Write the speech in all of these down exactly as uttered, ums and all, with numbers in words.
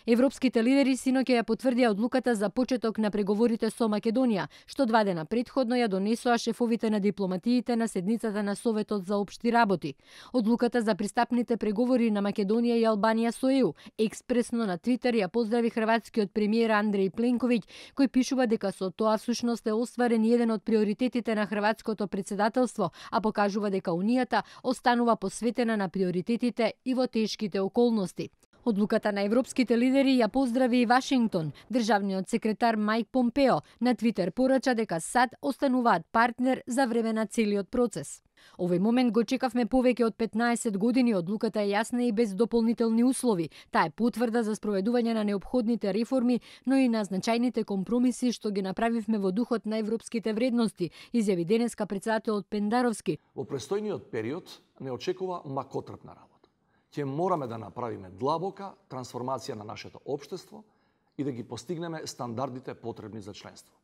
Европските лидери синоќа ја потврдија одлуката за почеток на преговорите со Македонија, што два дена претходно ја донесоа шефовите на дипломатиите на седницата на Советот за општи работи. Одлуката за пристапните преговори на Македонија и Албанија со Е У експресно на Твитер ја поздрави хрватскиот премиер Андреј Пленковиќ, кој пишува дека со тоа всушност е остварен еден од приоритетите на хрватското председателство, а покажува дека Унијата останува посветена на приоритетите и во тешките околности. Одлуката на европските лидери ја поздрави и Вашингтон. Државниот секретар Мајк Помпео на Твитер порача дека САД остануваат партнер за време на целиот процес. Овој момент го чекавме повеќе од петнаесет години, одлуката е јасна и без дополнителни услови. Таа е потврда за спроведување на неопходните реформи, но и на значајните компромиси што ги направивме во духот на европските вредности, изјави денеска председателот Пендаровски. Во престојниот период не очекува макотрпна работа. Ќе мораме да направиме длабока трансформација на нашето општество и да ги постигнеме стандардите потребни за членство.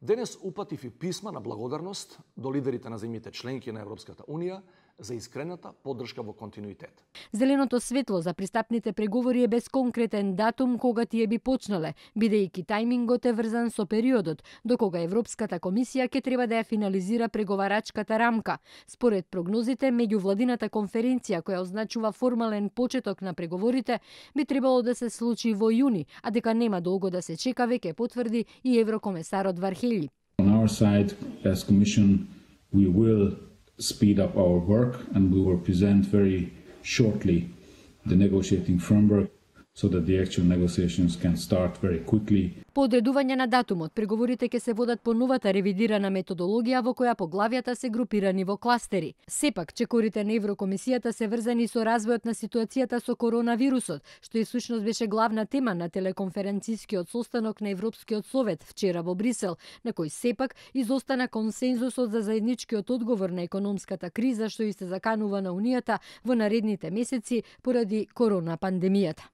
Денес упатив и писма на благодарност до лидерите на земјите членки на Европската Унија за искрената поддршка во континуитет. Зеленото светло за пристапните преговори е без конкретен датум кога тие би почнале, бидејќи тајмингот е врзан со периодот до кога Европската комисија ќе треба да ја финализира преговарачката рамка. Според прогнозите, меѓувладината конференција која означува формален почеток на преговорите би требало да се случи во јуни, а дека нема долго да се чека веќе потврди и еврокомесарот Вархелји. On our side, as Commission, we will speed up our work and we will present very shortly the negotiating framework so that the actual negotiations can start very quickly. По одредување на датумот, преговорите ќе се водат по новата ревидирана методологија во која поглавјата се групирани во кластери. Сепак, чекорите на Еврокомисијата се врзани со развојот на ситуацијата со коронавирусот, што и всушност беше главна тема на телеконференцискиот состанок на Европскиот совет вчера во Брисел, на кој сепак изостана консензусот за заедничкиот одговор на економската криза што и се заканува на Унијата во наредните месеци поради корона пандемијата.